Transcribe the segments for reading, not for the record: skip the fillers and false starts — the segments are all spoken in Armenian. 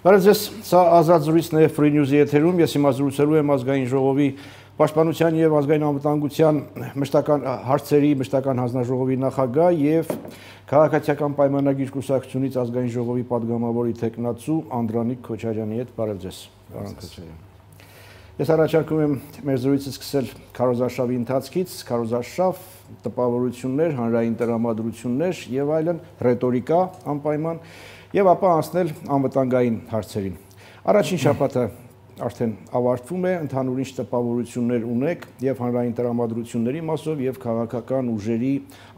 Բարև ձեզ, սա ազատ զրույցն է Free News-ի եթերում, ես հիմա զրուցելու եմ ազգային ժողովի պաշտպանության եւ ազգային անվտանգության մշտական հարցերի մշտական հանձնաժողովի նախագահ եւ քաղաքացիական պայմանագիր կուսակցությունից ազգային ժողովի падգամավորի տեխնացու Անդրանիկ Քոչարյանի հետ։ Բարև ձեզ, պարոն Քոչարյան։ Ես առաջարկում եմ մեր զրույցը սկսել քարոզարշավի ընթացքից, քարոզարշավ, տպավորություններ, հանրային տրամադրություններ եւ այլն, ռետորիկա անպայման եւ ապա անցնել անվտանգային հարցերին։ Առաջին շաբաթը արդեն ավարտվում է, ընդհանուր ինչ տպավորություններ ունեք եւ հանրային տրամադրությունների մասով եւ քաղաքական ուժերի,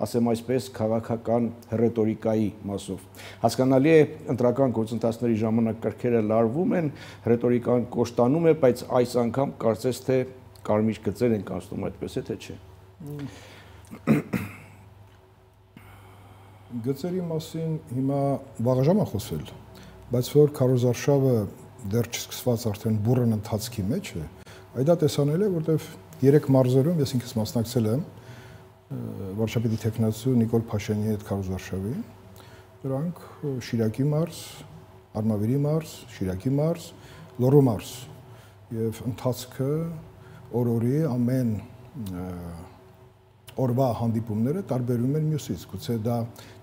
ասեմ այսպես, քաղաքական ռետորիկայի մասով։ Հասկանալի է, ընտրական գործընթացների ժամանակ կրքերը լարվում են, ռետորիկան կոշտանում է, բայց այս անգամ կարծես թե կարմիր գծեր են կանցնում, այդպես է թե չէ։ Գծերի մասին հիմա վաղաժամ է խոսել, բայց որ քարոզարշավը դեռ չսկսված արդեն բուրըն ընթացքի մեջ է, այդ տեսանել է, որտեվ 3 մարզերում ես ինքս մասնակցել եմ վարչապետի տեխնացու Նիկոլ Փաշինյանի հետ քարոզարշավի, դրանք Շիրակի մարզ, Արմավիրի մարզ, Շիրակի մարզ, Լոռու մարզ եւ ընթացքը օրորի ամեն օրվա հանդիպումները տարբերում են մյուսից, գուցե դա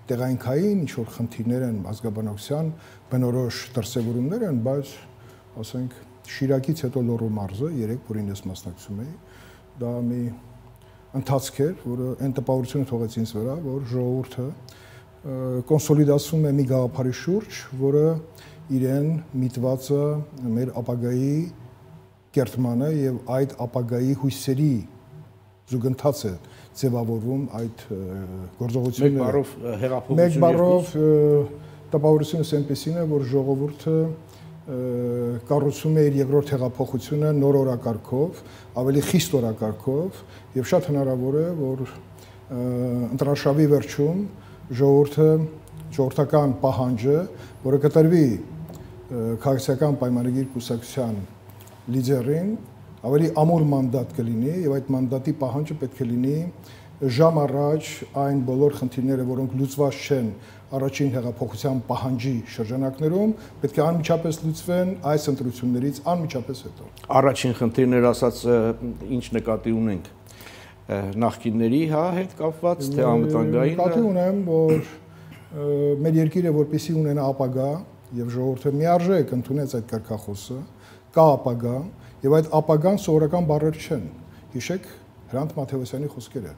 տեղայինքային ինչ-որ խնդիրներ են, ազգաբնակության բնորոշ դրսևորումներ են, բայց ասենք Շիրակից հետո Լոռու մարզը 3, որին ես մասնակցում էի, դա մի ընթացք էր, որը այն տպավորությունը թողեց ինձ վրա, որ ժողովուրդը կոնսոլիդացվում է մի գաղափարի շուրջ, որը իրեն միտված է մեր ապագայի կերտմանը եւ այդ ապագայի հույսերի զուգընթաց է ձևավորվում այդ գործողությունները։ Մեկ բառով տպավորությունս այնպեսին է, որ ժողովուրդը կառուցում է իր երկրորդ հեղափոխությունը նոր օրակարգով, ավելի խիստ օրակարգով եւ շատ հնարավոր է, որ ընտրաշավի վերջում ժողովրդական պահանջը, որը կտրվի քաղաքացիական պայմանագիր կուսակցության լիդերին, ավելի ամուր մանդատ կլինի եւ այդ մանդատի պահանջը պետք է լինի ժամ առաջ այն բոլոր խնդիրները, որոնք լուծված չեն առաջին հեղափոխության պահանջի շրջանակներում, պետք է անմիջապես լուծվեն այս ընտրություններից անմիջապես հետո։ Առաջին խնդիրներ ասած ինչ նկատի ունենք նախկինների հետ կապված, թե անվտանգային։ Նկատի ունեմ, որ մեր երկիրը որպեսզի ունենա ապագա եւ ժողովուրդը միարժեք ընդունեց այդ կարգախոսը, կա ապագա եւ այդ ապագան սովորական բառեր չեն։ Հիշեք Հրանտ Մաթեոսյանի խոսքերը։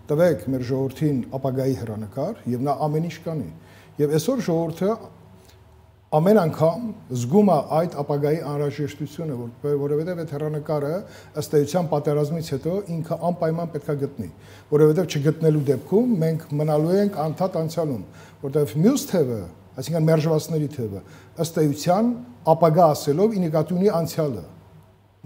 Տվեք մեր ժողովրդին ապագայի հեռանկար եւ նա ամեն ինչ կանի։ Եվ այսօր ժողովուրդը ամեն անգամ զգում է այդ ապագայի անհրաժեշտությունը, որովհետեւ այդ հեռանկարը ըստ էության պատերազմից հետո ինքը անպայման պետք է գտնի, որովհետեւ չգտնելու դեպքում մենք մնալու ենք անդադ անցյալում, որովհետեւ մյուս թևը, այսինքն մերժվածների թևը, ըստ էության ապագա ասելով ի նկատի ունի անցյալը։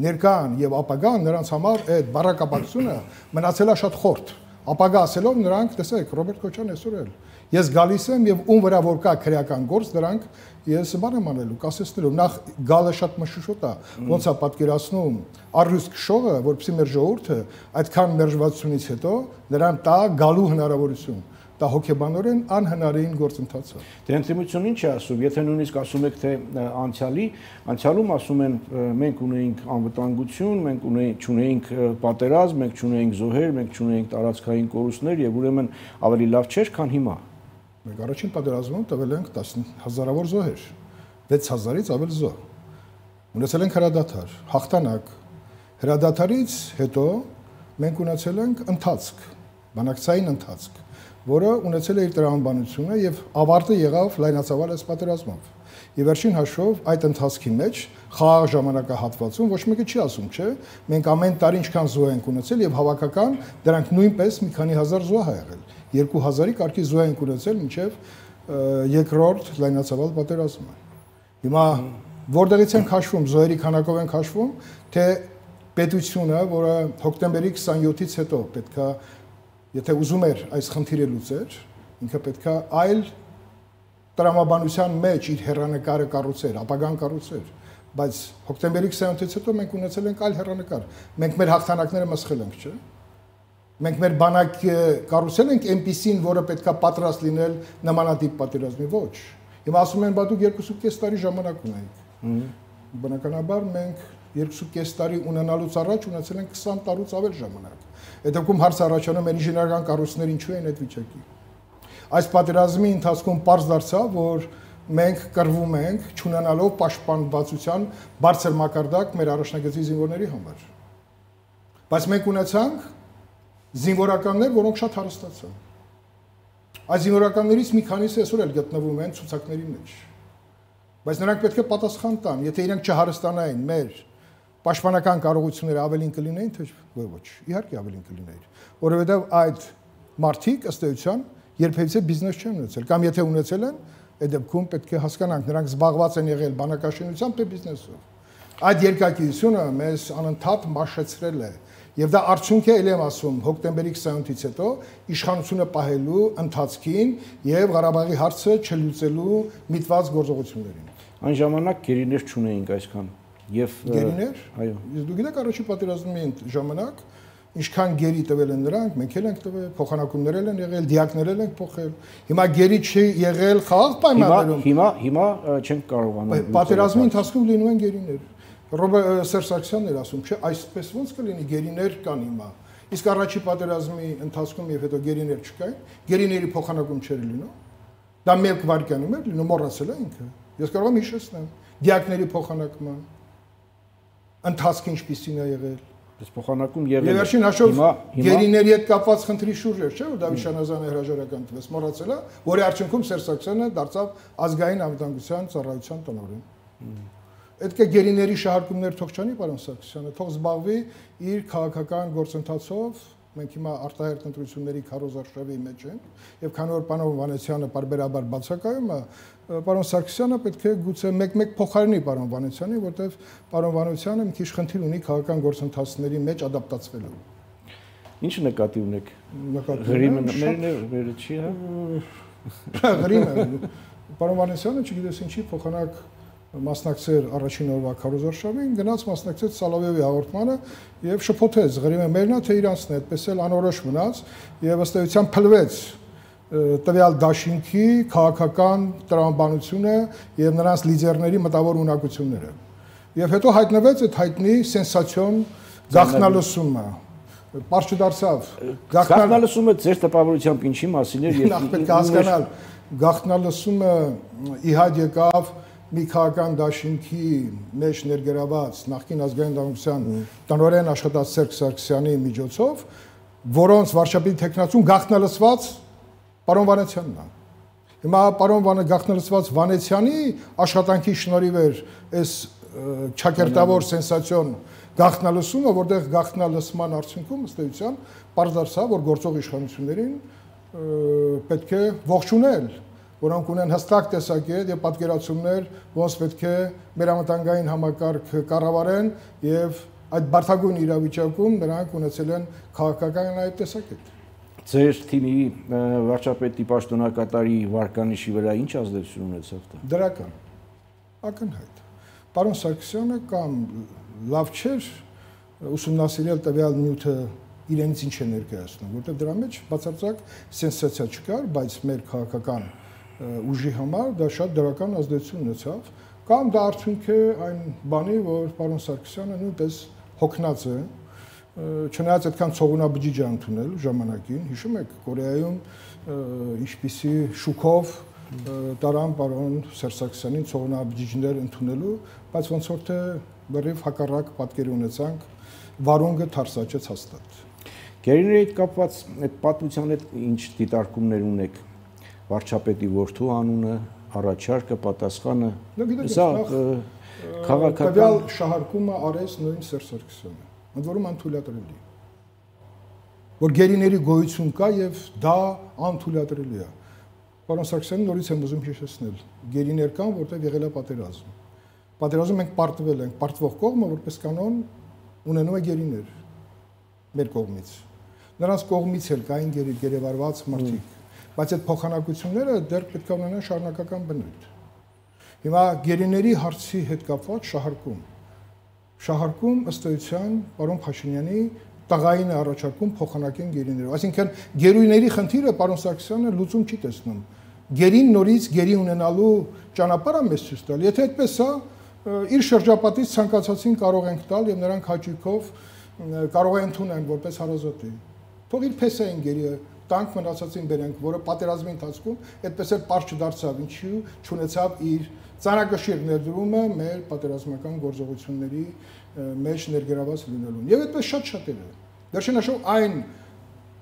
Ներկան եւ ապագան նրանց համար այդ բառակապակցությունը մնացել է շատ խորտ։ Ապագա ասելով նրանք, տեսեք, Ռոբերտ Քոչարյանն այսօր էլ ես գալիս եմ եւ ում վրա որ կա քրեական գործ, դրանք ես բան եմ անելու, կասեցնելու։ Նախ գալը շատ մշուշոտ է, ոնց է պատկերացնում առյուծ քշողը, որպեսզի մեր ժողովուրդը այդքան մերժվածությունից հետո նրան տա գալու հնարավորություն։ Դա հոգեբանորեն անհնարին գործընթաց է։ Դե ընդդիմությունն ինչ է ասում, եթե նույնիսկ ասում եք թե անցյալում ասում են մենք ունեինք անվտանգություն, մենք չունեինք պատերազմ, մենք չունեինք զոհեր, մենք չունեինք տարածքային կորուստներ եւ ուրեմն ավելի լավ չէր, քան հիմա։ Մենք առաջին պատերազմում տվել ենք 10,000-ավոր զոհեր, 6,000-ից ավել զոհ։ Ունեցել ենք հրադադար, հաղթանակ։ Հրադադարից հետո մենք ունեցել ենք ընթացք, բանակցային ընթացք, որը ունեցել է իր տրամաբանությունը եւ ավարտը եղավ լայնածավալ այս պատերազմով։ Եվ վերջին հաշվով այդ ընթացքի մեջ խաղաղ ժամանակահատվածում ոչ մեկը չի ասում, չէ՞, մենք ամեն տարի ինչքան զոհ ենք ունեցել եւ հավաքական դրանք նույնպես մի քանի հազար զոհ ա եղել։ 2000-ի կարգի զոհ ենք ունեցել մինչեւ երկրորդ լայնածավալ պատերազմը։ Հիմա որտեղից ենք հաշվում, զոհերի քանակով ենք հաշվում, թե պետությունը, որը հոկտեմբերի 27-ից հետո պետքա եթե ուզում էր այս խնդիրը լուծեր, ինքը պետքա այլ տրամաբանության մեջ իր հեռանկարը կառուցեր, ապագան կառուցեր, բայց հոկտեմբերի 27-ից հետո մենք ունեցել ենք այլ հեռանկար։ Մենք մեր հաղթանակները մսխել ենք, չէ՞։ Մենք մեր բանակը կառուցել ենք այնպիսին, որը պետքա պատրաստ լինել նմանատիպ պատերազմի, ոչ։ Հիմա ասում են, բա դուք 2.5 տարի ժամանակ ունեիք։ Բնականաբար մենք 2.5 տարի ունենալուց առաջ ունեցել ենք 20 տարուց ավել ժամանակ։ Այդ դեպքում հարց առաջանում է ինժեներական կառույցները ինչու են այդ վիճակի։ Այս պատերազմի ընթացքում պարզ դարձավ, որ մենք կռվում ենք չունենալով պաշտպանվածության բարձր մակարդակ մեր առաջնագծի զինվորների համար։ Բայց մենք ունեցանք զինվորականներ, որոնք շատ հարստացան։ Այս զինվորականներից մի քանիսը այսօր էլ գտնվում են ցուցակների մեջ։ Բայց նրանք պետք է պատասխան տան, եթե իրենք չհարստանային մեր պաշտպանական կարողությունները ավելին կլինեին, թե ոչ, իհարկե ավելին կլինեին, որովհետև այդ մարդիկ ըստ էության երբևիցե բիզնես չեն ունեցել, կամ եթե ունեցել են, այդ դեպքում պետք է հասկանանք, նրանք զբաղված են եղել բանակաշինությամբ թե բիզնեսով։ Այդ երկակիությունը մեզ անընդհատ մաշեցրել է, եւ դա արդյունք է, ել եմ ասում, հոկտեմբերի 28-ից հետո իշխանությունը պահելու ընթացքին եւ Ղարաբաղի հարցը չլուծելու միտված գործողություններին։ Այն ժամանակ գերիներ չունեինք այսքան։ Եվ գերիներ, այո, դու գիտեք առաջի պատերազմի ժամանակ ինչքան գերի տվել են նրանք, մենք էլ ենք տվել, փոխանակումներ են եղել, դիակներ ենք փոխել։ Հիմա գերի չի եղել խաղաղ պայմաններում։ Հիմա չենք կարողանում։ Պատերազմի ընթացքում լինում են գերիներ։ Սերժ Սարգսյանն էր ասում, չէ, այսպես ոնց կլինի, գերիներ կան հիմա։ Իսկ առաջի պատերազմի ընթացքում եւ հետո գերիներ չկային, գերիների փոխանակում չէր լինում։ Դա մեկ վայրկյանում էր լինում, մոռացել է ինքը։ Ես կարող եմ հիշեցնել դիակների փոխանակման ընթացքը ինչպիսին է եղել։ Այս փոխանակում եղել է։ Եվ վերջին հաշվով գերիների հետ կապված խնդրի շուրջ էր, չէ՞, որ Դավիթ Շանազյանը հրաժարական տվեց, մոռացել է, որի արդյունքում Սերժ Սարգսյանը դարձավ ազգային անվտանգության ծառայության տնօրեն։ Պետք է գերիների շահարկումներ թող չանի, պարոն Սարգսյանը, թող զբաղվի իր քաղաքական գործընթացով։ Մենք հիմա արտահերթ ընտրությունների քարոզարշավի մեջ ենք, եւ քանի որ պարոն Վանեցյանը բարբերաբար բացակայում է, պարոն Սարգսյանը պետք է գուցե մեկ-մեկ փոխարինի պարոն Վանեցյանին, որտեղ պարոն Վանեցյանը մի քիչ խնդիր ունի քաղաքական գործընթացների մեջ ադապտացվելու։ Ինչ նկատի ունեք։ Գրիմը մերը չի, հա։ Գրիմը։ Պարոն Վանեցյանը չգիտես ինչի փոխանակ մասնակցեր առաջին օրվա քարոզարշավին, գնաց մասնակցեց Սալավեևի հաղորդմանը եւ շփոթեց Ղրիմը մերնա թե իրանցն է, այդպես էլ անորոշ մնաց եւ ըստ էության փլվեց տվյալ դաշինքի քաղաքական տրամաբանությունը եւ նրանց լիդերների մտավոր ունակությունները։ Եվ հետո հայտնվեց այդ հայտնի սենսացիոն գաղտնալսումը։ Պարզ չդարձավ։ Գաղտնալսումը ձեր տպավորությամբ ինչի մասին էր եւ պետք է հասկանալ, գաղտնալսումը իհադ եկավ մի քաղաքական դաշինքի մեջ ներգրաված նախկին ազգային դաշնության տնօրեն աշխատած Սերժ Սարգսյանի միջոցով, որոնց վարչապետի տեխնացուն գաղտնալսված պարոն Վանեցյանն է։ Հիմա պարոն գաղտնալսված Վանեցյանի աշխատանքի շնորհիվ էր այս ճակերտավոր սենսացիոն գաղտնալսումը, որտեղ գաղտնալսման արդյունքում ըստ էության պարզ դարձավ, որ գործող իշխանություններին պետք է ողջունել, որոնք ունեն հստակ տեսակետ եւ պատկերացումներ, ոնց պետք է մեր անվտանգային համակարգ կառավարեն եւ այդ բարդագույն իրավիճակում նրանք ունեցել են քաղաքական այդ տեսակետ։ Ձեր թիմի վարչապետի պաշտոնակատարի վարկանիշի վրա ինչ ազդեցություն ունեցավ դա։ Դրական, ակնհայտ։ Պարոն Սարգսյանը կամ լավ չէր ուսումնասիրել տվյալ նյութը իրենից ինչ է ներկայացնում, որտեղ դրա մեջ բացարձակ սենսացիա չկար, բայց մեր քաղաքական ուժի համար դա շատ դրական ազդեցություն ունեցավ, կամ դա արդյունք է այն բանի, որ պարոն Սարգսյանը նույնպես հոգնած է, չնայած այդքան ցողունաբջիջ է ընդունել ժամանակին, հիշում եք Կորեայում ինչպիսի շուկով տարան պարոն Սերժ Սարգսյանին ցողունաբջիջներ ընդունելու, բայց ոնց որ թե լրիվ հակառակ պատկեր ունեցանք, վարունգը թարսաճեց հաստատ։ Գերիների հետ կապված այդ պատմության հետ ինչ դիտարկումներ ունեք։ Վարչապետի որդու անունը, առաջարկը, պատասխանը, սա քաղաքական տվյալ շահարկումը արեց նույն Սերժ Սարգսյանը, ընդ որում անթույլատրելի, որ գերիների գոյություն կա եւ դա անթույլատրելի է։ Պարոն Սարգսյանը նորից եմ ուզում հիշեցնել, գերիներ կան, որտեղ եղել է պատերազմ։ Պատերազմում մենք պարտվել ենք, պարտվող կողմը որպես կանոն ունենում է գերիներ մեր կողմից։ Նրանց կողմից էլ կային գերեվարված մարդիկ, բայց այդ փոխանակությունները դեռ պետք է ունենան շարունակական բնույթ։ Հիմա գերիների հարցի հետ կապված շահարկում ըստ էության պարոն Փաշինյանի տղային առաջարկում փոխանակեն գերիներով։ Այսինքն գերույների խնդիրը պարոն Սարգսյանը լուծում չի տեսնում։ Գերին նորից գերի ունենալու ճանապարհը մեզ ցույց տալ։ Եթե այդպես է, իր շրջապատից ցանկացածին կարող ենք տալ եւ նրանք հաճույքով կարող են ընդունեն որպես հարազատի։ Թող իր փեսային գերի տանք մնացածին բերենք, որը պատերազմի ընթացքում այդպես էլ པարզ չդարձավ, ինչու չունեցավ իր ծանրակշիռ ներդրումը մեր պատերազմական գործողությունների մեջ ներգրաված լինելուն։ Եվ այդպես շատ-շատերը։ Վերջնաշով այն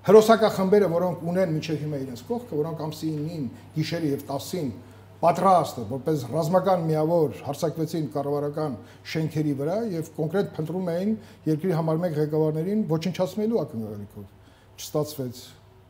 հերոսակախմբերը, որոնք ունեն մինչև հիմա իրենց կողքը, որոնք ամսի 9-ին, գիշերը եւ 10-ին պատրաստ որպես ռազմական միավոր հարձակվեցին կառավարական շենքերի վրա եւ կոնկրետ փնտրում էին երկրի համար մեկ ղեկավարներին ոչնչացնելու ակնկալիքով։ Չստացվեց,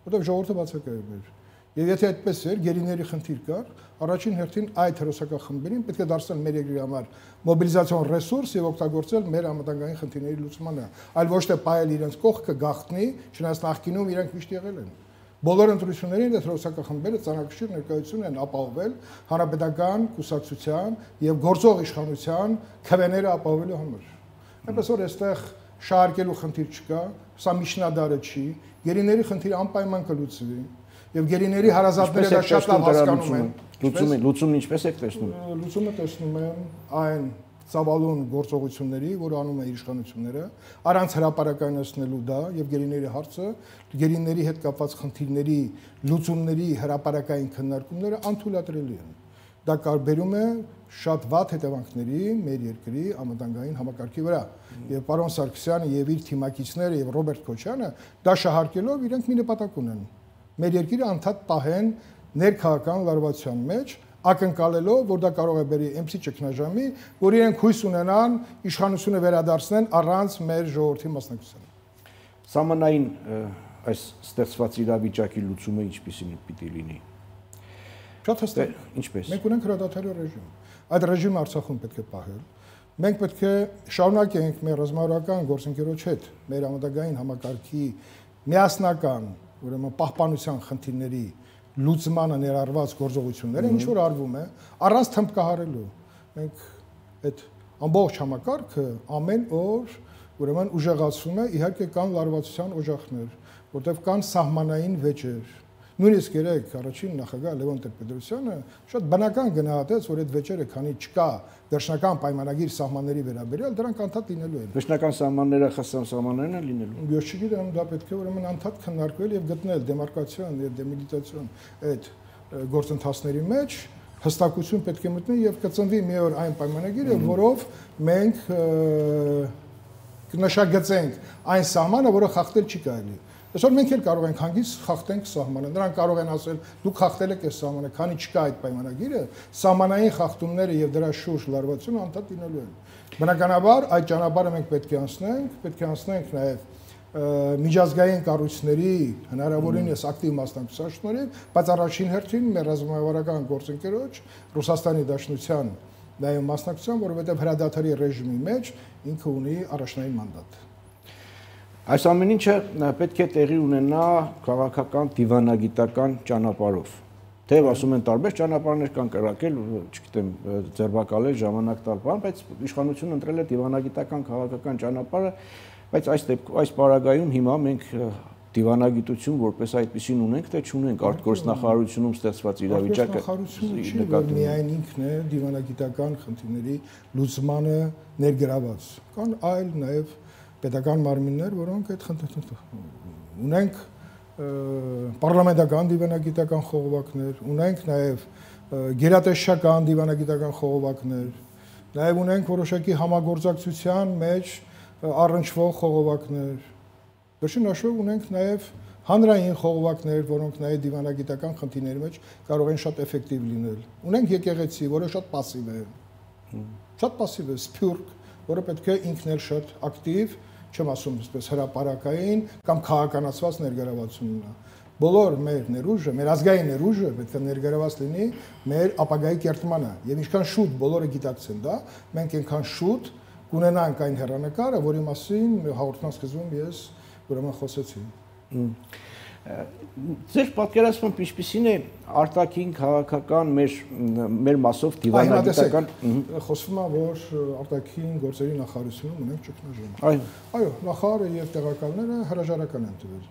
որտեղ ժողովուրդը բացակայել էր։ Եվ եթե այդպես էր, գերիների խնդիր կար, առաջին հերթին այդ հերոսակախմբերին պետք է դարձնել մեր երկրի համար մոբիլիզացիոն ռեսուրս եւ օգտագործել մեր անվտանգային խնդիրների լուծմանը, այլ ոչ թե պայել իրենց կողքը գաղտնի, չնայած նախկինում իրենք միշտ եղել են։ Բոլոր ընտրություններին այդ հերոսակախմբերը ծանրակշիռ ներկայություն են ապահովել հանրապետական կուսակցության եւ գործող իշխանության քվեները ապահովելու համար։ Այնպես որ այստեղ շահարկելու խնդիր չկա, սա միջնադարը չի, գերիների խնդիրը անպայման կլուծվի եւ գերիների հարազատները դա շատ լավ հասկանում են։ Լուծումն ինչպես եք տեսնում։ Լուծումը տեսնում եմ այն ծավալուն գործողությունների, որ անում է իշխանությունները, առանց հրապարակայնացնելու դա եւ գերիների հարցը, գերիների հետ կապված խնդիրների լուծումների հրապարակային քննարկումները անթույլատրելի են։ Դա կարբերում է շատ վատ հետևանքների մեր երկրի անվտանգային համակարգի վրա։ Եվ պարոն Սարգսյանը եւ իր թիմակիցները եւ Ռոբերտ Քոչյանը դա շահարկելով իրենք մի նպատակ ունեն։ Մեր երկիրը անդադ պահեն ներքաղաքական լարվածության մեջ, ակնկալելով, որ դա կարող է բերի MC ճգնաժամի, որ իրենք հույս ունենան իշխանությունը վերադարձնեն առանց մեր ժողովրդի մասնակցության։ Սահմանային այս ստեղծված իրավիճակի լուծումը ինչպիսին պիտի լինի։ Շատ հստակ։ Ինչպես։ Մենք ունենք հրադադարի ռեժիմ։ Այդ ռեժիմը Արցախում պետք է պահել։ Մենք պետք է շարունակենք մեր ռազմավարական գործընկերոջ հետ մեր անվտանգային համակարգի միասնական, ուրեմն պահպանության խնդիրների լուծմանը ներառված գործողությունները ինչ որ արվում է առանց թմբկահարելու։ Մենք այդ ամբողջ համակարգը ամեն օր ուրեմն ուժեղացում է, իհարկե կան լարվածության օջախներ, որտեղ կան սահմանային վեճեր։ Նույնիսկ երեք առաջին նախագահ Լևոն Տեր-Պետրոսյանը շատ բնական գնահատեց, որ այդ վեճերը քանի չկա վերջնական պայմանագիր սահմանների վերաբերյալ, դրանք անդադ լինելու են։ Վերջնական սահմանները ԽՍՀՄ սահմաններն են լինելու։ Ես չգիտեմ, դա պետք է ուրեմն անդադ քննարկվել եւ գտնել դեմարկացիան եւ դեմիլիտացիոն այդ գործընթացների մեջ հստակություն պետք է մտնի եւ կծնվի մի օր այն պայմանագիրը, որով մենք կնշագծենք այն սահմանը, որը խախտել չի կարելի։ Այսօր մենք էլ կարող ենք հանգիստ խախտենք սահմանը։ Նրանք կարող են ասել՝ դուք խախտել եք այս սահմանը, քանի չկա այդ պայմանագիրը, սահմանային խախտումները եւ դրա շուրջ լարվածությունը անդադ լինելու են։ Բնականաբար այդ ճանապարհը մենք պետք է անցնենք նաեւ միջազգային կառույցների հնարավորինս ակտիվ մասնակցության շնորհիվ, բայց առաջին հերթին մեր ռազմավարական գործընկերոջ Ռուսաստանի Դաշնության նաեւ մասնակցության, որովհետեւ հրադադարի ռեժիմի մեջ ինքը ունի առաջնային մանդատ։ Այս ամեն ինչը պետք է տեղի ունենա քաղաքական դիվանագիտական ճանապարհով։ Թեև ասում են տարբեր ճանապարհներ կան կրակել, չգիտեմ, ձերբակալել, ժամանակ տալ բան, բայց իշխանությունը ընտրել է դիվանագիտական քաղաքական ճանապարհը, բայց այս պարագայում հիմա մենք դիվանագիտություն որպես այդպեսին ունենք, թե չունենք արտգործնախարարությունում ստեղծված իրավիճակը։ Միայն ինքն է դիվանագիտական խնդիրների լուծմանը ներգրաված։ Կան այլ նաև պետական մարմիններ, որոնք այդ խնդիրները ունենք պարլամենտական դիվանագիտական խողովակներ, ունենք նաև գերատեսչական դիվանագիտական խողովակներ, նաև ունենք որոշակի համագործակցության մեջ առնչվող խողովակներ։ Վերջին հաշվով ունենք նաև հանրային խողովակներ, որոնք նաև դիվանագիտական խնդիրների մեջ կարող են շատ էֆեկտիվ լինել։ Ունենք եկեղեցի, որը շատ пассив է։ Շատ пассив է, սփյուռք, որը պետք է ինքն էլ շատ ակտիվ, չեմ ասում այսպես հրապարակային կամ քաղաքականացված ներգրավվածություն ունենա։ Բոլոր մեր ներուժը, մեր ազգային ներուժը պետք է ներգրաված լինի մեր ապագայի կերտմանը, եւ ինչքան շուտ բոլորը գիտակցեն դա, մենք այնքան շուտ կունենանք այն հեռանկարը, որի մասին հաղորդման սկզբում ես ուրեմն խոսեցի։ Ձեր պատկերացմամբ ինչպիսին է արտաքին քաղաքական մեր մասով դիվանագիտական խոսվում է, որ արտաքին գործերի նախարարությունում ունենք ճգնաժամ։ Այո, նախարարը եւ տեղակալները հրաժարական են տվել։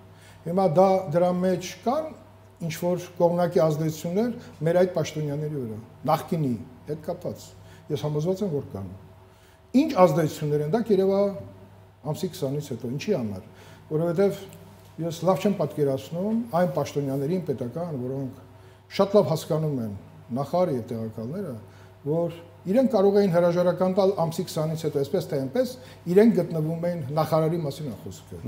Հիմա դրա մեջ կան ինչ որ կողմնակի ազդեցություններ մեր այդ պաշտոնյաների վրա, նախկինի հետ կապված։ Ես համոզված եմ, որ կան։ Ինչ ազդեցություններ են դա երևա ամսի 20-ից հետո, ինչի համար, որովհետև ես լավ չեմ պատկերացնում այն պաշտոնյաներին պետական, որոնք շատ լավ հասկանում են նախարարը եւ տեղակալները, որ իրենք կարող էին հրաժարական տալ ամսի 20-ից հետո, այսպես թե այնպես, իրենք գտնվում էին նախարարի մասին խոսքը։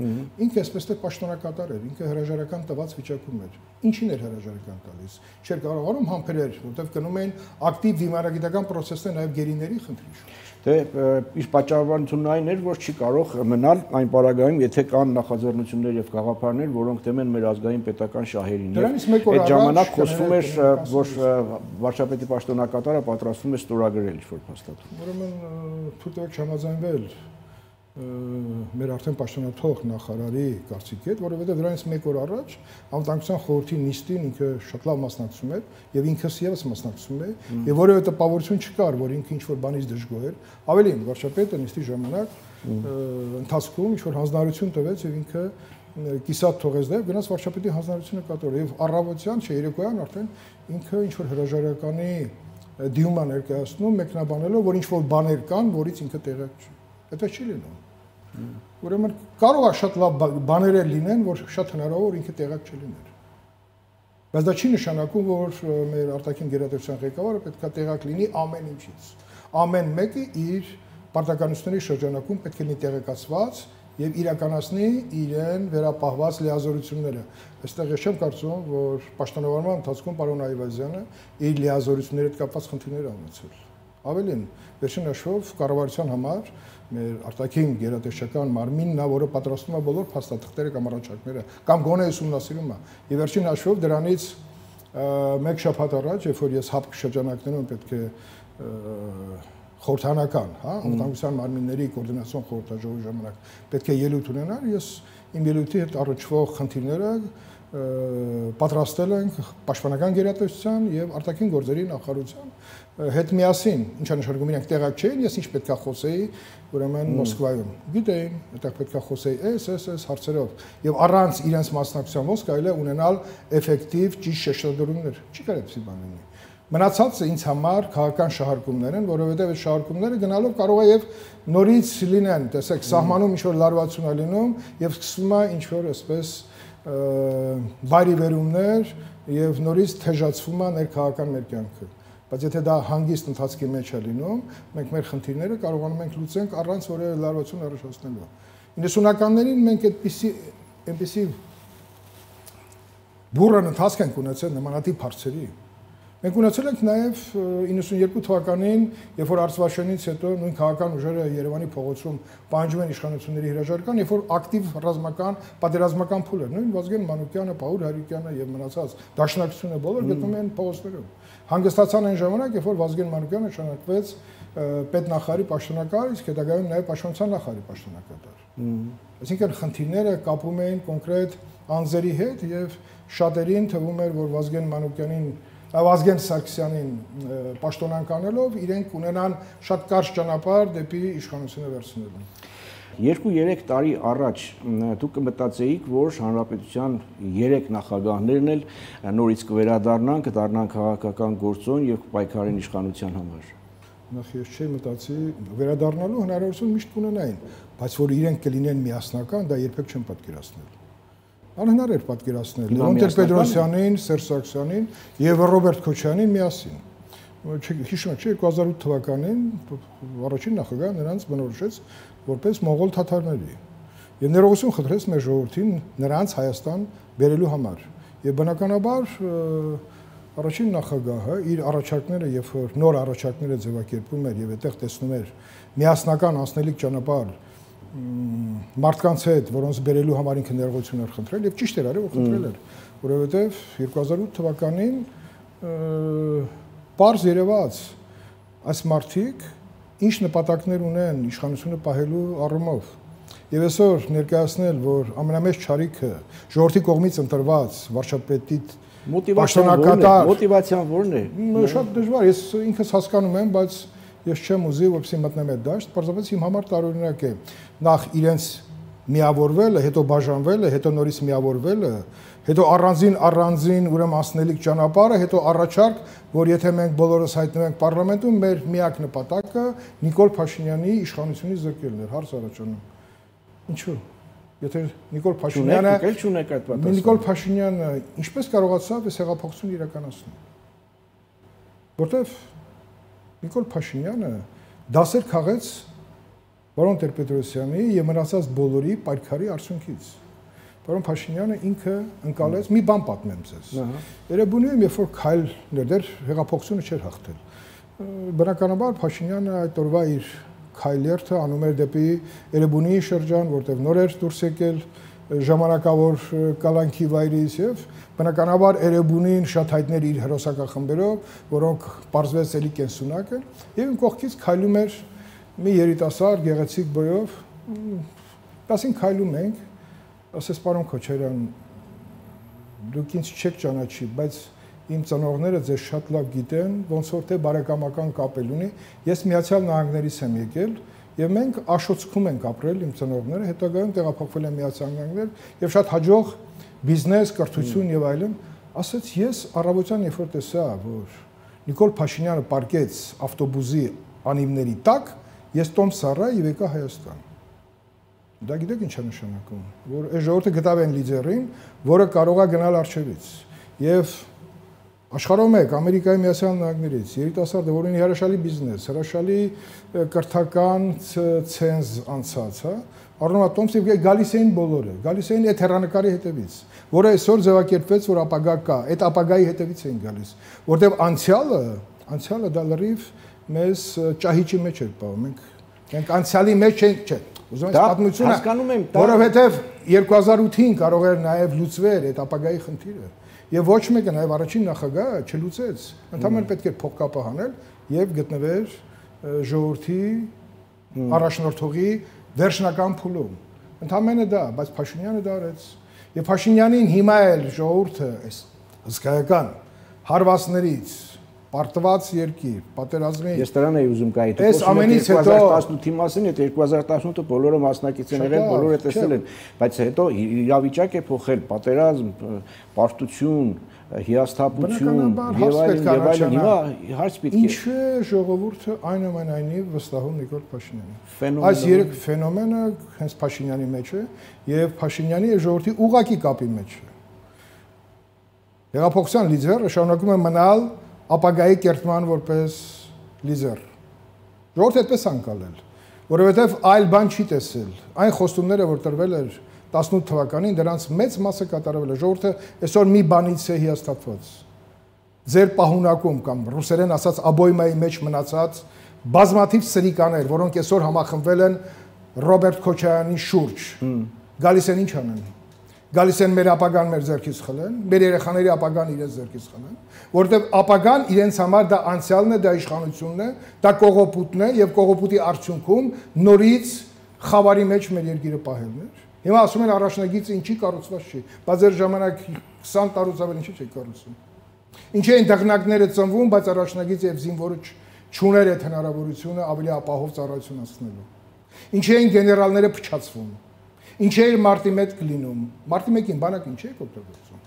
Ինքը այսպես թե պաշտոնակատար էր, ինքը հրաժարական տված վիճակում էր։ Ինչին էր հրաժարական տալիս։ Չէր կարողանում համբերել, որովհետև գնում էին ակտիվ դիմարագիտական process-ներ նաև գերիների խնդրի։ Դե իր պատճառաբանությունն այն էր, որ չի կարող մնալ այն պարագայում, եթե կան նախաձեռնություններ եւ գաղափարներ, որոնք դեմ են մեր ազգային պետական շահերին։ Այդ ժամանակ խոսվում էր, որ վարչապետի պաշտոնակատարը պատրաստվում է ստորագրել ինչ-որ փաստաթուղթ։ Ուրեմն թույլ տվեք չհամաձայնվել մեր արդեն պաշտոնաթող նախարարի կարծիքի հետ, որովհետև դրանից մեկ օր առաջ անվտանգության խորհրդի նիստին ինքը շատ լավ մասնակցում էր եւ ինքս եւս մասնակցում է եւ որևէ տպավորություն չկար, որ ինքը ինչ-որ բանից դժգոհ էր։ Ավելին, վարչապետը նիստի ժամանակ ընթացքում ինչ-որ հանձնարարություն տվեց եւ ինքը կիսատ թողեց դա եւ գնաց վարչապետի հանձնարարությունը կատարել եւ առավոտյան, չէ, երեկոյան արդեն ինքը ինչ-որ հրաժարականի դիմումա ներկայացնում, մեկնաբանելով, որ ինչ-որ բաներ կան, որից ինքը տեղյակ չի։ Դա չի լինում։ Ուրեմն կարող է շատ լավ բաներ լինեն, որ շատ հնարավոր ինքը տեղյակ չլիներ։ Բայց դա չի նշանակում, որ մեր արտաքին գերատեսչության ղեկավարը պետք է տեղյակ լինի ամեն ինչից։ Ամեն մեկը իր պարտականությունների շրջանակում պետք է լինի տեղեկացված եւ իրականացնի իրեն վերապահված լիազորությունները։ Այստեղ ես չեմ կարծում, որ պաշտոնավարման ընթացքում պարոն Այվազյանը իր լիազորությունների հետ կապված խնդիրներ ունեցել։ Ավելին, վերջին հաշվով կառավարության համար մեր արտաքին գերատեսչական մարմինն է, որը պատրաստում է բոլոր փաստաթղթերը կամ առաջարկները, կամ գոնե ուսումնասիրում է։ Եվ վերջին հաշվով դրանից մեկ շաբաթ առաջ, երբ որ ես հապկ շրջանակներում պետք է խորհրդանական, հա, անվտանգության մարմինների կոորդինացիոն խորհրդաժողովի ժամանակ պետք է ելույթ ունենալ, ես իմ ելույթի հետ առնչվող խնդիրները պատրաստել ենք պաշտպանական գերատեսչության եւ արտաքին գործերի նախարարության հետ միասին, ինչա նշանակում իրենք տեղակ չէին, ես ինչ պետքա խոսեի, ուրեմն Մոսկվայում։ Գիտեին, այդտեղ պետքա խոսեի այս հարցերով եւ առանց իրենց մասնակցության ոնց կարելի է ունենալ էֆեկտիվ ճիշտ շեշտադրումներ։ Չի կարելի այդպեսի բան լինի։ Մնացածը ինձ համար քաղաքական շահարկումներ են, որովհետև այդ շահարկումները գնալով կարող է եւ նորից լինեն, տեսեք, սահմանում ինչ որ լարվածություն է լինում եւ սկսվում է ինչ որ այսպես բարիվերումներ եւ նորից թեժացվում է ներքաղաքական մեր կյանքը։ Բայց եթե դա հանգիստ ընթացքի մեջ է լինում, մենք մեր խնդիրները կարողանում ենք լուծենք առանց որևէ լարվածություն առաջացնելու։ 90-ականներին մենք այնպեսի բուրըն ընթացք ենք ունեցել նմանատիպ հարցերի։ Մենք ունեցել ենք նաև 92 թվականին, երբ որ Արցվաշենից հետո նույն քաղաքական ուժերը Երևանի փողոցում պահանջում են իշխանությունների հրաժարական, երբ որ ակտիվ ռազմական, պատերազմական փուլ էր, նույն Վազգեն Մանուկյանը, Պաուլ Հարիկյանը եւ մնացած դաշնակցությունը բոլոր գտնում են փողոցներում։ Հանգստացան այն ժամանակ, երբ որ Վազգեն Մանուկյանը նշանակվեց պետնախարարի պաշտոնակար, իսկ հետագայում նաև պաշտպանության նախարարի պաշտոնակատար։ Այսինքն խնդիրները կապում էին կոնկրետ անձերի հետ եւ շատերին թվում էր, որ Վազգեն Սարգսյանին պաշտոնանկանելով իրենք ունենան շատ կարճ ճանապարհ դեպի իշխանությունը վերցնելու։ 2-3 տարի առաջ դուք կմտածեիք, որ հանրապետության 3 նախագահներն էլ նորից կվերադառնան, կդառնան քաղաքական գործոն եւ կպայքարեն իշխանության համար։ Նախ ես չէի մտածի վերադառնալու հնարավորություն միշտ կունենային, բայց որ իրենք կլինեն միասնական, դա երբեք չեմ պատկերացնել։ Անհնար էր պատկերացնել Լևոն Տեր-Պետրոսյանին, Սերժ Սարգսյանին եւ Ռոբերտ Քոչարյանին միասին։ Հիշում եք, 2008 թվականին առաջին նախագահը նրանց բնորոշեց որպես մոնղոլ թաթարների եւ ներողություն խնդրեց մեր ժողովրդին նրանց Հայաստան բերելու համար։ Եվ բնականաբար առաջին նախագահը իր առաջարկները, երբ որ նոր առաջարկները ձևակերպում էր եւ այդտեղ տեսնում էր միասնական անցնելիք ճանապարհ մարդկանց հետ, որոնց բերելու համար ինքը ներողություն էր խնդրել եւ ճիշտ էր արել, որ խնդրել էր, որովհետեւ 2008 թվականին պարզ երևաց այս մարդիկ ինչ նպատակներ ունեն իշխանությունը պահելու առումով։ Եվ այսօր ներկայացնել, որ ամենամեծ չարիքը ժողովրդի կողմից ընտրված վարչապետի մոտիվացիան ո՞րն է։ Շատ դժվար, ես ինքս հասկանում եմ, բայց ես չեմ ուզի, որպեսզի մտնեմ այդ դաշտ, պարզապես իմ համար տարօրինակ է նախ իրենց միավորվելը, հետո բաժանվելը, հետո նորից միավորվելը, հետո առանձին ուրեմն անցնելիք ճանապարհը, հետո առաջարկ, որ եթե մենք բոլորս հայտնվենք պարլամենտում, մեր միակ նպատակը Նիկոլ Փաշինյանի իշխանությունից զրկելն էր, հարց առաջանում։ Ինչու՞։ Եթե Նիկոլ Փաշինյանը ինչպես կարողացավ այս հեղափոխությունը իրականացնել։ Որտեվ Նիկոլ Փաշինյանը դասեր քաղեց Պարոն Տեր-Պետրոսյանի եւ մնացած բոլորի պայքարի արդյունքից։ Պարոն Փաշինյանը ինքը ընկալեց, մի բան պատմեմ ձեզ։ Երևանում երբ որ քայլներ դեռ հեղափոխությունը չէր հաղթել։ Բնականաբար Փաշինյանը այդ օրվա իր քայլերթը անում էր դեպի Էրեբունի շրջան, որտեղ նոր էր դուրս եկել ժամանակավոր կալանքի վայրից եւ բնականաբար Էրեբունին շատ հայտներ իր հերոսակախմբերով, որոնք պարզվեց էլի կենսունակ են, եւ կողքից քայլում էր մի երիտասարդ գեղեցիկ բոյով, ասին քայլում ենք, ասես պարոն Քոչարյան, դուք ինձ չեք ճանաչի, բայց իմ ծնողները ձեզ շատ լավ գիտեն, ոնց որ թե բարեկամական կապել ունի, ես Միացյալ Նահանգներից եմ եկել եւ մենք Աշոցքում ենք ապրել իմ ծնողները, հետագայում տեղափոխվել են Միացյալ Նահանգներ եւ շատ հաջող բիզնես, կրթություն եւ այլն, ասաց ես առավոտյան երբ որ տեսա, որ Նիկոլ Փաշինյանը պարկեց ավտոբուսի անիվների տակ, ես տոմս առա եւ եկա Հայաստան։ Դա գիտեք ինչ է նշանակում, որ այս ժողովուրդը գտավ են լիդերին, որը կարող է գնալ արժևից եւ աշխարհում եք Ամերիկայի Միացյալ Նահանգներից երիտասարդը, որ ունի հրաշալի բիզնես, հրաշալի կրթական ցենզ անցած, հա, առնում է տոմս եւ գալիս էին բոլորը, գալիս էին այդ հեռանկարի հետևից, որը այսօր ձևակերպվեց, որ ապագա կա, այդ ապագայի հետևից էին գալիս, որտեղ անցյալը դա լրիվ մեզ ճահիճի մեջ էր պահում, մենք անցյալի մեջ չենք, չէ, ուզում եմ պատմությունը, հասկանում եմ, որովհետեւ 2008-ին կարող էր նաեւ լուծվել այդ ապագայի խնդիրը։ Եվ ոչ մեկը նաև առաջին նախագահը չլուծեց, ընդհանրապես պետք է փոխկապը հանել եւ գտնվեր ժողովրդի առաջնորդողի վերջնական փուլում։ Ընդհանրապես դա, բայց Փաշինյանը դա արեց։ Եվ Փաշինյանին հիմա էլ ժողովուրդը այս հսկայական հարվածներից պարտված երկիր, պատերազմի։ Ես դրան էի ուզում գայի։ Այս ամենից հետո 2018-ի մասին, այդ 2018-ը բոլորը մասնակիցներ են, բոլորը տեսել են, բայց հետո իրավիճակ է փոխել, պատերազմ, պարտություն, հիասթափություն եւ այլն, հիմա հարց պետք է։ Ինչու է ժողովուրդը այնուամենայնիվ վստահում Նիկոլ Փաշինյանին։ Այս երեք ֆենոմենը հենց Փաշինյանի մեջ է եւ Փաշինյանի եւ ժողովրդի ուղակի կապի մեջ է։ Հեղափոխության լիդերը շարունակում է մնալ ապագայի կերտման որպես լիդեր։ Ժողովուրդը այդպես անկալել, որովհետև այլ բան չի տեսել։ Այն խոստումները, որ տրվել էր 18 թվականին, դրանց մեծ մասը կատարվել է։ Ժողովուրդը այսօր մի բանից է հիասթափված։ Ձեր պահունակում կամ ռուսերեն ասած աբոյմայի մեջ մնացած բազմաթիվ սրիկաներ, որոնք այսօր համախմբվել են Ռոբերտ Քոչարյանի շուրջ, գալիս են ինչ անեն։ Գալիս են մեր ապագան մեր ձեռքից խլեն, մեր երեխաների ապագան իրենց ձեռքից խլեն, որովհետև ապագան իրենց համար դա անցյալն է, դա իշխանությունն է, դա կողոպուտն է եւ կողոպուտի արդյունքում նորից խավարի մեջ մեր երկիրը պահելն էր։ Հիմա ասում են առաջնագիծը ինչի կառուցված չի, բայց ձեր ժամանակ 20 տարուց ավել ինչի՞ չի կառուցում։ Ինչի են դղնակները ծնվում, բայց առաջնագիծը եւ զինվորը չուներ այդ հնարավորությունը ավելի ապահով ծառայություն անցնելու։ Ինչի են գեներալները փչացվում։ Ինչ է մարտի 1 կլինում։ Մարտի 1-ին բանակ ինչ է օգտագործում։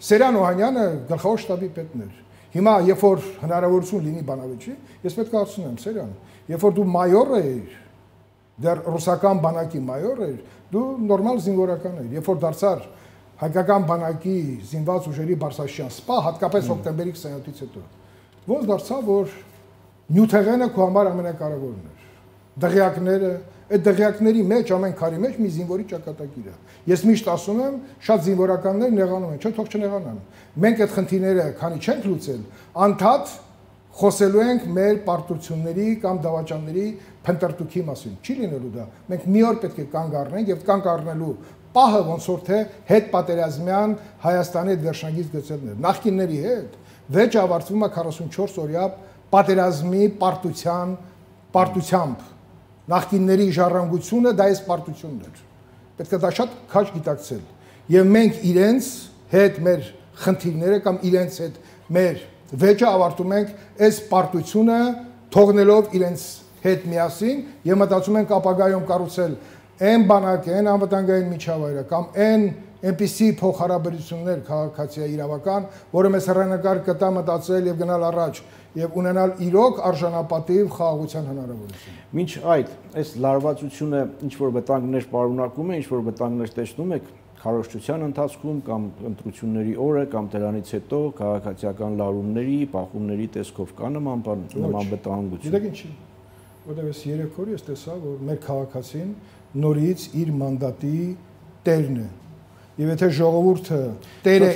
Սերյան Օհանյանը գլխավոր շտաբի պետն էր։ Հիմա երբ որ հնարավորություն լինի բանավեճի, ես պետք է ասում եմ, Սերյան, երբ որ դու մայոր էիր, դեռ ռուսական բանակի մայոր էիր, դու նորմալ զինվորական էիր։ Երբ որ դարձար հայկական բանակի զինված ուժերի բարձրաստիճան սպա, հատկապես հոկտեմբերի 27-ից հետո, ոնց դարձավ, որ նյութեղենը քո համար ամենակարևորն էր։ Դղյակները, այդ դղյակների մեջ, ամեն քարի մեջ մի զինվորի ճակատագիր է։ Ես միշտ ասում եմ, շատ զինվորականներ նեղանում են, չէ՞ թող չնեղանան։ Մենք այդ խնդիրները, քանի չենք լուծել, անդադ խոսելու ենք մեր պարտությունների կամ դավաճանների փնտրտուքի մասին։ Չի լինելու դա։ Մենք մի օր պետք է կանգ առնենք եւ կանգ առնելու պահը ոնց որ թե հետ պատերազմյան Հայաստանի այդ վերջնագիծ գծելն էր։ Նախկինների հետ վեճը ավարտվում է 44 օրյա պատերազմի պարտությամբ նախկինների ժառանգությունը դա այս պարտությունն էր։ Պետք է դա շատ քաջ գիտակցել։ Եվ մենք իրենց հետ մեր խնդիրները կամ իրենց հետ մեր վեճը ավարտում ենք այս պարտությունը թողնելով իրենց հետ միասին եւ մտածում ենք ապագայում կառուցել այն բանակը, այն անվտանգային միջավայրը կամ այնպիսի փոխհարաբերություններ քաղաքացիական իրավական, որը մեզ հեռանկար կտա մտածել եւ գնալ առաջ եւ ունենալ իրոք արժանապատիվ խաղաղության հնարավորություն։ Մինչ այդ, այս լարվածությունը ինչ որ վտանգներ պարունակում է, ինչ որ վտանգներ տեսնում եք քարոզչության ընթացքում կամ ընտրությունների օրը կամ դրանից հետո քաղաքացիական լարումների, բախումների տեսքով կա նման վտանգություն։ Գիտեք ինչի՞, որտեղ ես 3 օր ես տեսա, որ մեր քաղաքացին նորից իր մանդատի տերն է։ Եվ եթե ժողովուրդը տերը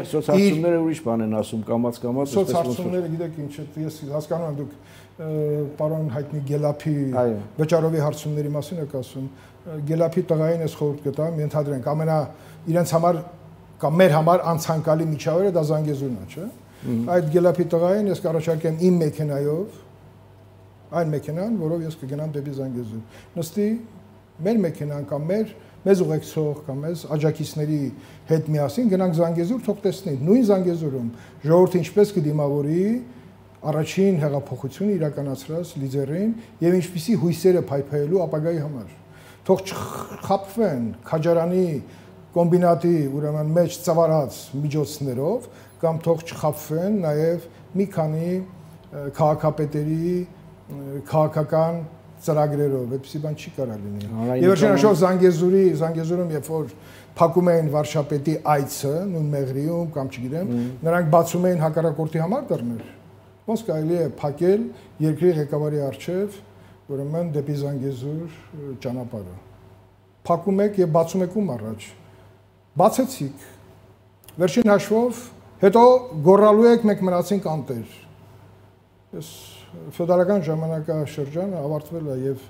սոցիալները ուրիշ բան են ասում, կամաց սոցիալները գիտեք ինչ է, ես հասկանում եմ դուք պարոն հայտնի Գելափի վճարովի հարցումների մասին եք ասում, Գելափի տղային ես խորհուրդ կտամ, ենթադրենք իրենց համար կամ մեր համար անցանկալի միջավայրը դա Զանգեզուրն է, չէ՞։ Այդ Գելափի տղային ես կառաջարկեմ իմ մեքենայով, այն մեքենան, որով ես կգնամ դեպի Զանգեզուր։ Նստի մեր մեքենան կամ մեզ ուղեկցող կամ մեզ աջակիցների հետ միասին գնանք Զանգեզուր, թող տեսնի նույն Զանգեզուրում ժողովուրդը ինչպես կդիմավորի առաջին հեղափոխությունը իրականացրած լիդերին եւ ինչպիսի հույսերը փայփայելու ապագայի համար։ Թող չխաբվեն քաջարանի կոմբինատի ուրեմն մեջ ծավալած միջոցներով կամ թող չխաբվեն նաեւ մի քանի քաղաքապետերի քաղաքական ծրագրերով, այդպեսի բան չի կարող լինի։ Եվ վերջնաշով Զանգեզուրում երբ որ փակում էին վարչապետի այցը, նույն Մեղրիում կամ չգիտեմ, նրանք բացում էին հակառակորդի համար դռներ։ Ոնց կարելի է փակել երկրի ղեկավարի առջև, ուրեմն դեպի Զանգեզուր ճանապարհը։ Փակում եք եւ բացում եք ում առաջ։ Բացեցիք։ Վերջին հաշվով հետո գոռալու եք մենք մնացինք անտեր։ Ես ֆեոդալական ժամանակաշրջանը ավարտվել է եւ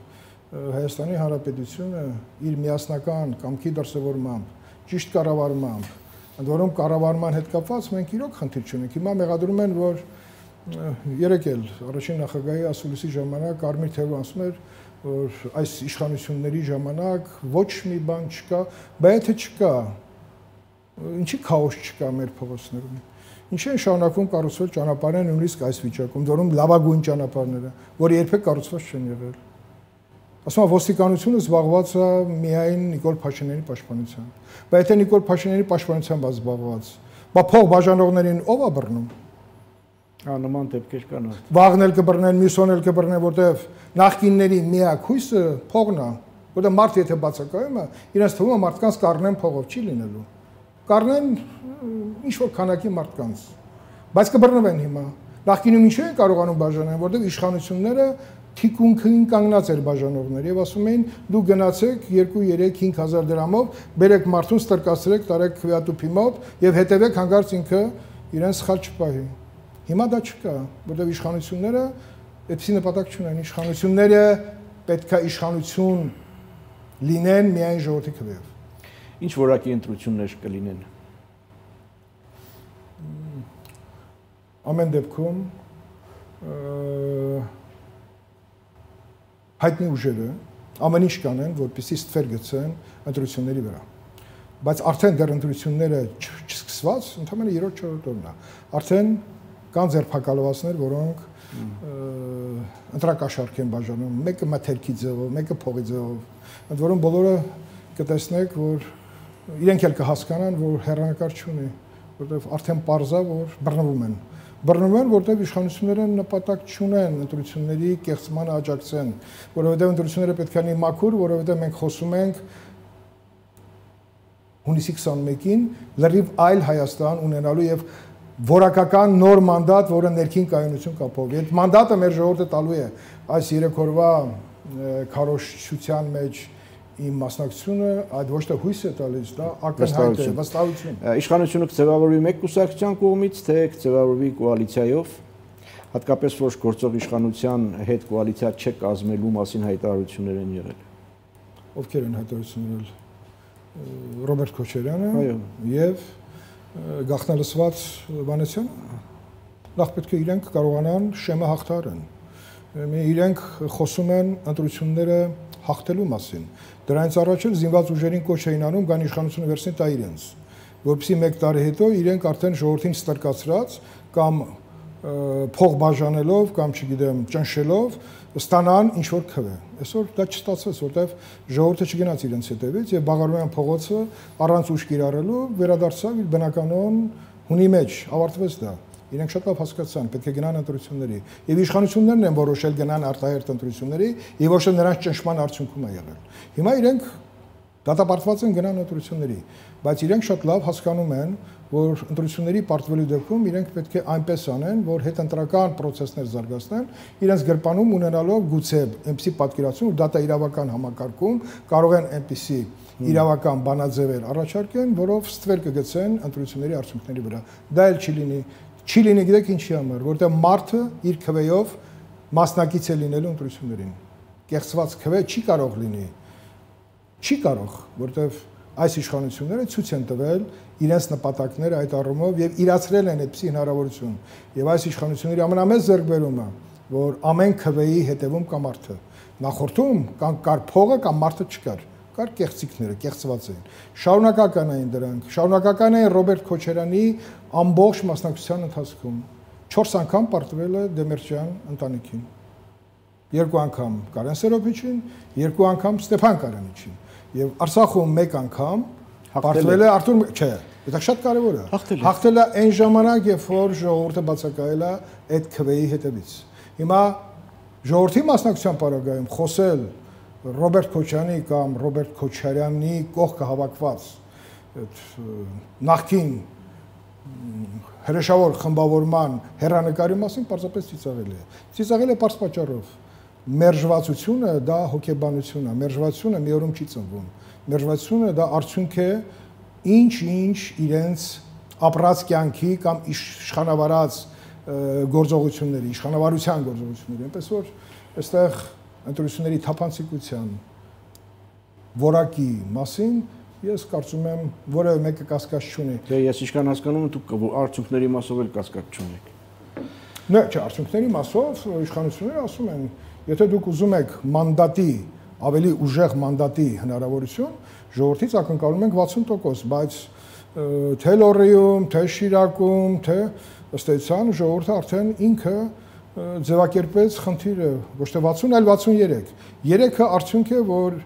Հայաստանի Հանրապետությունը իր միասնական կամքի դրսևորմամբ, ճիշտ կառավարմամբ, ընդ որում կառավարման հետ կապված մենք իրոք խնդիր չունենք։ Հիմա մեղադրում են, որ երեք էլ առաջին նախագահի ասուլիսի ժամանակ Կարմիր Թևը ասում էր, որ այս իշխանությունների ժամանակ ոչ մի բան չկա, բայց եթե չկա, ինչի քաոս չկա մեր փողոցներում։ Ինչի են շարունակվում կառուցվել ճանապարհները նույնիսկ այս վիճակում, որում լավագույն ճանապարհները, որը երբեք կառուցված չեն եղել։ Ասում եմ ոստիկանությունը զբաղված է միայն Նիկոլ Փաշինյանի պաշտպանությամբ։ Բայց եթե Նիկոլ Փաշինյանի պաշտպանությամբ է զբաղված, բա փող բաժանողներին ով է բռնում։ Նման դեպքեր կան։ Վաղն էլ կբռնեն, մյուսոն էլ կբռնեն, որտեղ նախկինների միակ հույսը փողն է, որտեղ մարդ եթե բացակայում է, իրենց թվում է մարդկանց կառնեն փողով, չի լինելու։ Կառնեն ինչ որ քանակի մարդկանց, բայց կբռնվեն հիմա։ Նախկինում ինչու են կարողանում բաժանել, որտեղ իշխանությունները թիկունքին կանգնած էր բաժանողներ եւ ասում էին դու գնացեք 2-3-5,000 դրամով, բերեք մարդուն ստրկացրեք, տարեք քվեատուփի մոտ եւ հետեւեք հանգարց ինքը իրեն սխալ չպահի։ Հիմա դա չկա, որտեղ իշխանությունները այդպիսի նպատակ չունեն, իշխանությունները պետքա իշխանություն լինեն միայն ժողովրդի քվեով։ Ինչ որակի ընտրություններ կլինեն։ Ամեն դեպքում հայտնի ուժերը ամեն ինչ կանեն, որպեսզի ստվեր գցեն ընտրությունների վրա։ Բայց արդեն դեռ ընտրությունները չսկսված, ընդհանրապես 3-4 օրն է։ Արդեն կան ձերբակալվածներ, որոնք ընտրակաշառք են բաժանում, մեկը մթերքի ձևով, մեկը փողի ձևով։ Ընդ որում բոլորը կտեսնեք, որ իրենք էլ կհասկանան, որ հեռանկար չունի, որտեղ արդեն պարզա, որ բռնվում են։ Բռնվում են, որտեղ իշխանությունները նպատակ չունեն ընտրությունների կեղծմանը աջակցեն, որովհետև ընտրությունները պետք է լինի մաքուր, որովհետև մենք խոսում ենք հունիսի 21-ին լրիվ այլ Հայաստան ունենալու եւ որակական նոր մանդատ, որը ներքին կայունություն կապող։ Այդ մանդատը մեր ժողովուրդը տալու է այս 3 օրվա քարոզչության մեջ իմ մասնակցությունը, այդ ոչ թե հույս է տալիս, դա ակնհայտ է, վստահություն։ Իշխանությունը կձևավորվի մեկ կուսակցության կողմից, թե կձևավորվի կոալիցիայով, հատկապես որ գործող իշխանության հետ կոալիցիա չկազմելու մասին հայտարարություններ են եղել։ Ովքեր են հայտարարություններ եղել։ Ռոբերտ Քոչարյանը եւ գաղտնալսված Վանեսյանը։ Նախ պետք է իրենք կարողանան շեմը հաղթարեն։ Իրենք խոսում են ընտրությունները հաղթելու մասին։ Դրանից առաջ էլ զինված ուժերին կոչ էին անում գան իշխանությունը վերցնի տա իրենց, որպեսզի 1 տարի հետո իրենք արդեն ժողովրդին ստրկացրած կամ փող բաժանելով կամ չգիտեմ ճնշելով ստանան ինչ որ քվե։ Այսօր դա չստացվեց, որտեվ ժողովուրդը չգնաց իրենց հետևից եւ Բաղարոյան փողոցը առանց ուժ կիրառելու վերադարձավ իր բնականon հունի մեջ, ավարտվեց դա։ Իրենք շատ լավ հասկացան, պետք է գնան ընտրությունների։ Եվ իշխանություններն են որոշել գնան արտահերթ ընտրությունների, եւ ոչ թե նրանց ճնշման արդյունքում է եղել։ Հիմա իրենք դատապարտված են գնան ընտրությունների, բայց իրենք շատ լավ հասկանում են, որ ընտրությունների պարտվելու դեպքում իրենք պետք է այնպես անեն, որ հետընտրական process-ներ զարգացնեն, իրենց գրպանում ունենալով գուցե այնպիսի պատկերացում, որ դատա իրավական համակարգում կարող են այնպիսի իրավական բանաձևեր առաջարկեն, որով ստվեր կգցեն ընտրությունների արդյունքների վրա։ Դա էլ չի լինի գիտեք ինչի համար, որտեղ մարդը իր քվեով մասնակից է լինելու ընտրություններին։ Կեղծված քվե չի կարող լինի։ Չի կարող, որտեղ այս իշխանությունները ցույց են տվել իրենց նպատակները այդ առումով եւ իրացրել են այդպիսի հնարավորություն։ Եվ այս իշխանությունների ամենամեծ ձեռքբերումը, որ ամեն քվեի հետևում կա մարդը։ Նախորդում կար փողը կամ մարդը չկար։ Կար կեղծիքները, կեղծված էին։ Շարունակական էին դրանք։ Շարունակական էին Ռոբերտ Քոչարյանի ամբողջ մասնակցության ընթացքում 4 անգամ պարտվել է Դեմիրճյան ընտանիքին։ 2 անգամ Կարեն Սերոբիչին, 2 անգամ Ստեփան Կարանիչին։ Եվ Արցախում 1 անգամ պարտվել է Արտուր, չէ, դա շատ կարևոր է։ Հաղթել է այն ժամանակ, երբ որ ժողովուրդը բացակայել է այդ քվեի հետևից։ Հիմա ժողովրդի մասնակցության պարագայում խոսել Ռոբերտ Քոչարյանի կամ Ռոբերտ Քոչարյանի կողքը հավաքված նախկին հրեշավոր խմբավորման հերանեկարի մասին պարզապես ծիծաղել է։ Ծիծաղել է պարզ պատճառով։ Մերժվածությունը դա հոգեբանություն է, մերժվածությունը մի օրում չի ծնվում։ Մերժվածությունը դա արդյունք է ինչ իրենց ապրած կյանքի կամ իշխանավարած գործողությունների, իշխանավարության գործողությունների, այնպես որ այստեղ ընտրությունների թափանցիկության որակի մասին ես կարծում եմ որևէ մեկը կասկած չունի։ Դե ես ինչքան հասկանում եմ դուք արդյունքների մասով էլ կասկած չունեք։ Չէ, արդյունքների մասով իշխանությունները ասում են, եթե դուք ուզում եք մանդատի, ավելի ուժեղ մանդատի հնարավորություն, ժողովրդից ակնկալում ենք 60%, բայց թե Լոռիում, թե Շիրակում, թե ըստ էության ժողովուրդը արդեն ինքը ձևակերպեց խնդիրը ոչ թե 60, այլ 63։ 3-ը արդյունք է, որ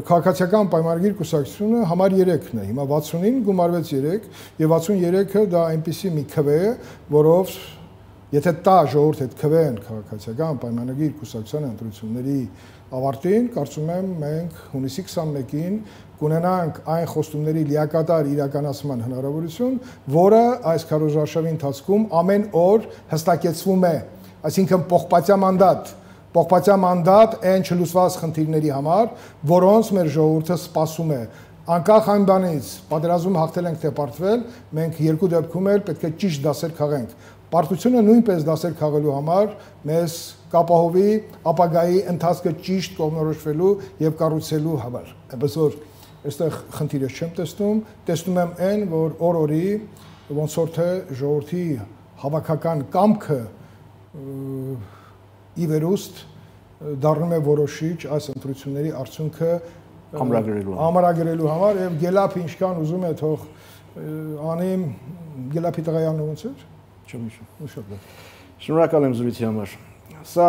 քաղաքացիական պայմանագիր կուսակցությունը համար 3-ն է։ Հիմա 60-ին գումարվեց 3 եւ 63-ը դա այնպիսի մի քվե է, որով եթե տա ժողովուրդ այդ քվեն քաղաքացիական պայմանագիր կուսակցության ընտրությունների ավարտին, կարծում եմ մենք հունիսի 21-ին կունենանք այն խոստումների լիակատար իրականացման հնարավորություն, որը այս քարոզարշավի ընթացքում ամեն օր հստակեցվում է, այսինքն պողպատյա մանդատ այն չլուծված խնդիրների համար, որոնց մեր ժողովուրդը սպասում է։ Անկախ այն բանից, պատերազմում հաղթել ենք թե պարտվել, մենք երկու դեպքում էլ պետք է ճիշտ դասեր քաղենք։ Պարտությունը նույնպես դասեր քաղելու համար մեզ կապահովի ապագայի ընթացքը ճիշտ կողմնորոշվելու եւ կառուցելու համար։ Այնպես որ այստեղ խնդիրը չեմ տեսնում եմ այն, որ օր-օրի ոնց որ թե ժողովրդի հավաքական կամքը ի վերուստ դառնում է որոշիչ այս ընտրությունների արդյունքը ամրագրելու համար եւ գելափ ինչքան ուզում է թող անի գելափի տղայանն ոնց էր Չեմ հիշում։ Շնորհակալ եմ զրույցի համար։ Սա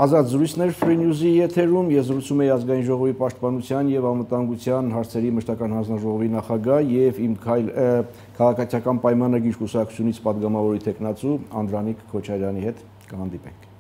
ազատ զրույցներ Free News-ի եթերում ես զրուցում եի ազգային ժողովի պաշտպանության եւ անվտանգության հարցերի մշտական հանձնաժողովի նախագահ եւ իմ քաղաքացիական պայմանագիր կուսակցությունից պատգամավորի տեխնացու Անդրանիկ Քոչարյանի հետ կհանդիպենք։